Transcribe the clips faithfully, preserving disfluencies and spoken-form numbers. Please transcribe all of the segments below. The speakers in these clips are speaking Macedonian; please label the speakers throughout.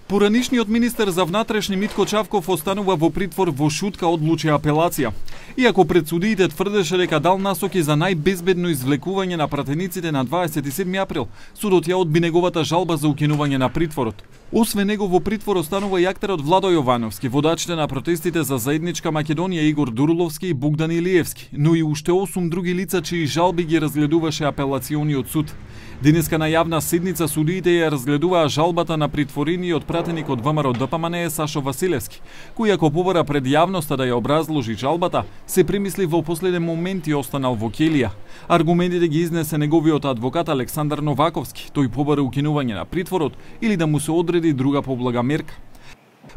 Speaker 1: Поранишниот министер за внатрешни Митко Чавков останува во притвор во шутка одлучи апелација. Иако пред судиите тврдеше дека дал насоки за најбезбедно извлекување на пратениците на дваесет и седми април, судот ја одби неговата жалба за укинување на притворот. Освен него во притвор останува и актерот Владо Јовановски, водачите на протестите за заедничка Македонија Игор Дурловски и Богдан Илиевски, но и уште осум други лица чии жалби ги разгледуваше апелациониот суд. Денеска на јавна седница судиите ја разгледуваа жалбата на притворениот пратеник од ВМРО Д П М Н Е Сашо Василевски, кој ако побара пред јавноста да ја образложи жалбата, се примисли во последен момент и останал во келија. Аргументите ги изнесе неговиот адвокат Александар Новаковски. Тој побара укинување на притворот или да му се одреди друга поблага мерка.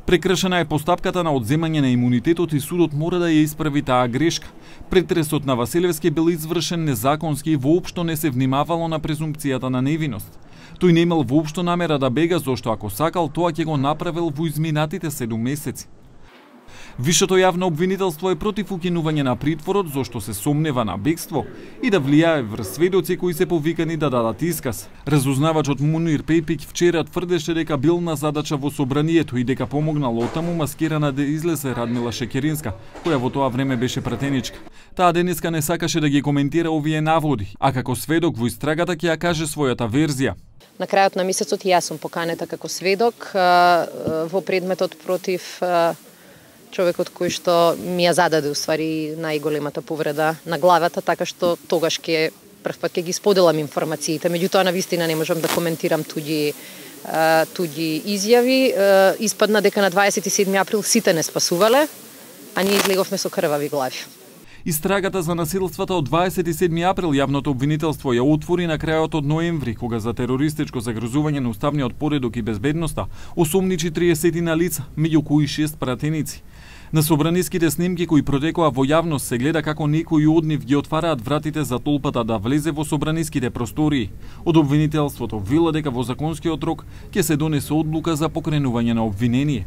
Speaker 1: Прекршена е постапката на одземање на имунитетот и судот мора да ја исправи таа грешка. Претресот на Василевски бил извршен незаконски и воопшто не се внимавало на презумпцијата на невиност. Тој не имал воопшто намера да бега, зашто ако сакал, тоа ќе го направил во изминатите седум месеци. Висшето јавно обвинителство е против укинување на притворот, зашто се сомнева на бегство и да влијае врз сведоци кои се повикани да дадат исказ. Разузнавачот Мунир Пепик вчера тврдеше дека бил на задача во собранието и дека помогнал отаму маскирана да излезе Радмила Шекеринска, која во тоа време беше пратеничка. Таа денеска не сакаше да ги коментира овие наводи, а како сведок во истрагата ќе ја каже својата верзија.
Speaker 2: На крајот на месецот и јас сум поканета како сведок во предметот против човекот кој што ми ја зададе уствари најголемата повреда на главата, така што тогаш ќе прв пат ќе ги споделам информациите. Меѓутоа навистина не можам да коментирам туѓи туѓи изјави. Испадна дека на дваесет и седми април сите не спасувале, а ние излеговме со крвави глави.
Speaker 1: Истрагата за насилствата од дваесет и седми април јавното обвинителство ја отвори на крајот од ноември, кога за терористичко загрозување на уставниот поредок и безбедноста осомничи триесетина лица, меѓу кои шест пратеници. На собраниските снимки кои протекоа во јавност се гледа како некои од нив ги отвараат вратите за толпата да влезе во собраниските простории. Од обвинителството вела дека во законскиот рок ќе се донесе одлука за покренување на обвинение.